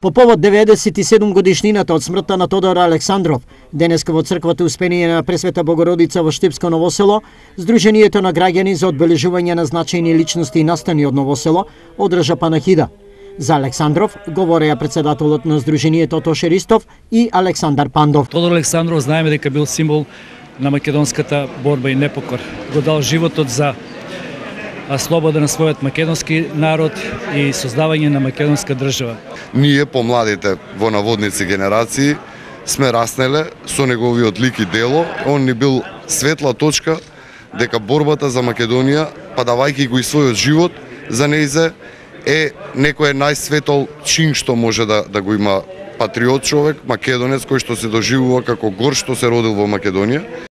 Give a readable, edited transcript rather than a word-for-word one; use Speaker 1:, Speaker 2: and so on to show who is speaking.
Speaker 1: По повод 97 годишнината од смртта на Тодор Александров, денеска во црквата Успение на Пресвета Богородица во Штипско Ново село, Сдруженијето на граѓани за одбележување на значајни личности и настани од Ново село одржа панахида. За Александров говореа председателот на Сдруженијето Тоше Ристов и Александар Пандов.
Speaker 2: Тодор Александров знаеме дека бил символ на македонската борба и непокор. Го дал животот за слобода на својот македонски народ и создавање на македонска држава.
Speaker 3: Ние, помладите во наводници генерации, сме раснеле со неговиот лик и дело. Он ни бил светла точка дека борбата за Македонија, па давајќи го и својот живот за нејзе, е некој најсветол чин што може да го има патриот човек, македонец кој што се доживува како гор што се родил во Македонија.